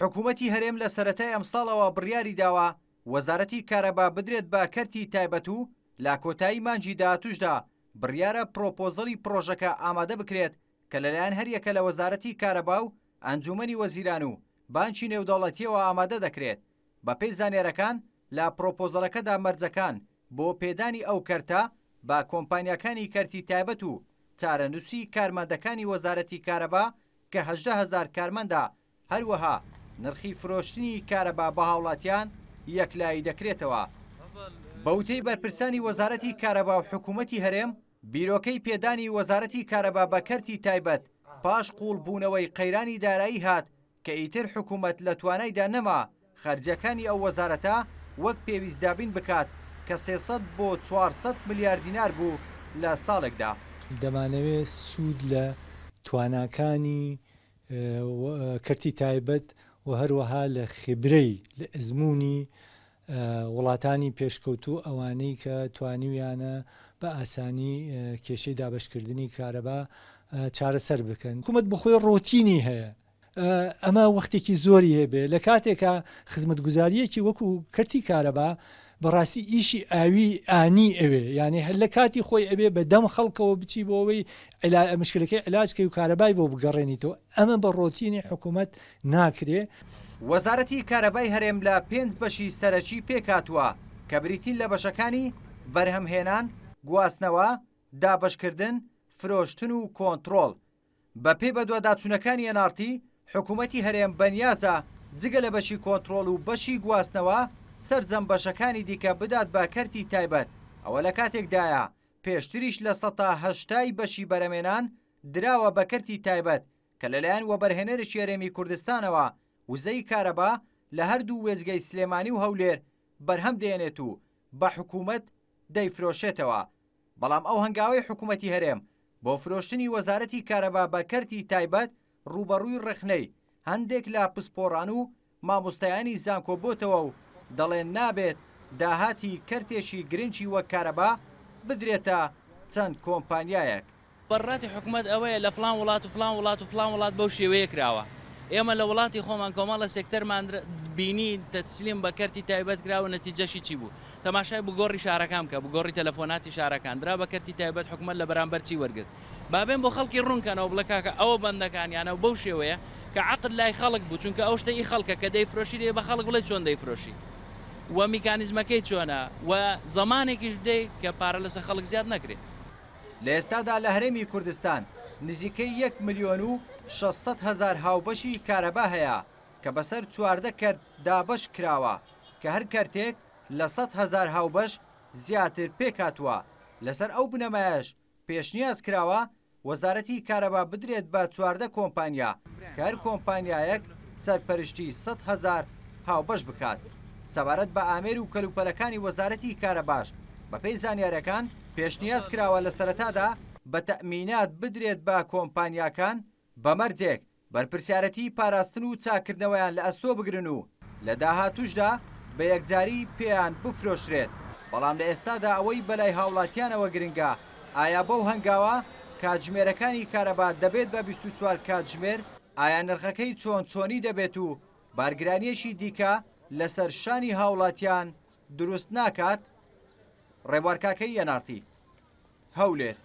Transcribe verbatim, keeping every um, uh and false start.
حکوومەتی هەرێم لە سەرەتای ئەمساڵەوە بڕیاری داوە وەزارەتی کارەبا بدرێت بە کەرتی تایبەت و لە کۆتایی مانگی داهاتووشدا بڕیارە پرۆپۆزەڵی پرۆژەکە ئامادە بکرێت کە لەلایەن هەریەکە لە وەزارەتی کارەبا و ئەنجومەنی وەزیران و بانکی نێودەوڵەتیەوە ئامادە دەکرێت. بەپێی زانیارەکان لە پرۆپۆزەڵەکەدا مەرجەکان بۆ پێدانی ئەو کەرتە بە کۆمپانیاکانی کەرتی تایبەت و چارەنووسی کارمەندەکانی وەزارەتی کارەبا کە هەژدە هەزار کارمەندە، هەروەها نرخی فرۆشتنی کارەبا بە هاوڵاتیان یەکلایی دەکرێتەوە. بەوتەی بەرپرسانی وەزارەتی کارەبا و حکوومەتی هەرێم، بیرۆکەی پێدانی وەزارەتی کارەبا بە کەرتی تایبەت پاش قوڵبوونەوەی قەیرانی دارایی هات کە ئیتر حکوومەت لە توانایدا نەما خەرجەکانی ئەو وەزارەتە وەک پێویست دابین بکات کە سێ سەد بۆ چوار سەد ملیار دینار بوو لە ساڵێکدا. دەمانەوێت سوود لە تواناکانی کەرتی تایبەت و هەروەها لە خیبرەی لە ئەزمموی وڵاتانی پێشکەوتوو ئەوانەی کە توانیویانە بە ئاسانی کێشەی دابەشکردنی کارەبا چارەسەر بکەن. حکوومەت بەخۆی ڕۆتینی هەیە، ئەمە وەختێکی زۆری هەبێ لە کاتێکە خزمەتگوزاریەکی وەکو کەرتی کارەبا بەڕاستی ئیشی ئاوی ئانی ئەوێ، یعنی هەر لە کاتی خۆی ئەبێ بە دەم خەڵکەوە بچی بۆ ئەوەی مشکلەکەی عیلاجکەی و کارەبای بۆ بگەڕێنیتەوە. ئەمە بە ڕۆتینی حکوومەت ناکرێ. وەزارەتی کارەبای هەرێم لە پێنج بەشی سەرەکی پێکهاتووە کە بریتین لە بەشەکانی بەرهەمهێنان، گواستنەوە، دابەشکردن، فرۆشتن و کۆنترۆڵ. بە پێی بەدواداچوونەکانی ئێن ئاڕ تی، حکوومەتی هەرێم بەنیازە جگە لە بەشی کۆنترۆڵ و بەشی گواستنەوە سەرجەم بەشەکانی دیکە بدات بە کەرتی تایبەت. ئەوە لە کاتێکدایە پێشتریش لە سەتا هەشتای بەشی بەرەمێنان دراوە بە کەرتی تایبەت کە لەلایەن وەبەرهێنەرێکی هەرێمی کوردستانەوە وزەی کارەبا لە هەردوو وێزگەی سلێمانی و هەولێر بەرهەم دێنێت و بە حکوومەت دەیفرۆشێتەوە. بەڵام ئەو هەنگاوەی حکوومەتی هەرێم بۆ فرۆشتنی وەزارەتی کارەبا بە کەرتی تایبەت ڕووبەڕووی ڕەخنەی هەندێک لە پسپۆڕان و مامۆستایانی زانکۆ بۆتەوە و دەڵێن نابێت داهاتی کەرتێکی گرنگی وەک کارەبا بدرێتە چەند کۆمپانیایەک. بەڕاتی حکوومەت ئەوەیە لە فلان وڵات و فلان وڵات و فلان وڵات بەو شێوەیە کراوە. ئێمە لە وڵاتی خۆمان کۆمەڵە سێکتەرمان بینی تەسلیم بە کەرتی تایبەت کراوە، نەتیجەشی چی بوو؟ تەماشای بگۆڕی شارەکان بکە، بگۆڕی تەلەفۆناتی شارەکان درا بە کەرتی تایبەت، حکوومەت لە بەرامبەر چی وەرگرت؟ بابێن بۆ خەڵکی ڕوونکەنەوە بڵێ کاکە ئەوە بەندەکانیانە و بەو شێوەیە کە عەقد لای خەڵک بوو، چونکە ئەو شتە ئی خەڵکە کە دەیفرۆشی دەی بە خەڵک بڵێ چۆن دەیفرۆشی و میکانیزمەکەی چۆنە و زەمانێکیش بدەی کە پارە لەسەر خەڵک زیاد نەکرێت. لە ئێستادا لە هەرێمی کوردستان نزیکەی یەک ملیۆن و شەش سەد هەزار هاوبەشی کارەبا هەیە کە بەسەر چواردە کەرت دابەش کراوە کە هەر کەرتێک لە سەد هەزار هاوبەش زیاتر پێکهاتووە. لەسەر ئەو بنەمایەش پێشنیاز کراوە وەزارەتی کارەبا بدرێت بە چواردە کۆمپانیا کە هەر کۆمپانیایەک سەرپەرشتی سەد هەزار هاوبەش بکات. سەبارەت بە ئامێر و کەلوپەلەکانی وەزارەتی کارەباش بەپێی زانیارەکان پێشنیاز کراوە لە سەرەتادا بە تەئمینات بدرێت بە کۆمپانیاکان بەمەرجێک بەرپرسیارەتی پاراستن و چاکردنەوەیان لە ئەستۆ بگرن و لە داهاتوشدا بە یەکجاری پێیان بفرۆشرێت. بەڵام لە ئێستادا ئەوەی بەلای هاوڵاتیانەوە گرنگە ئایا بەو هەنگاوە کاتژمێرەکانی کارەبا دەبێت بە بیست و چوار کاتژمێر، ئایا نرخەکەی چۆن چۆنی دەبێت و بارگرانیەکی دیکە لەسەر شانی هاوڵاتیان دروست ناکات؟ ڕێبوار کاکەی ئێن ئاڕ تی، هەولێر.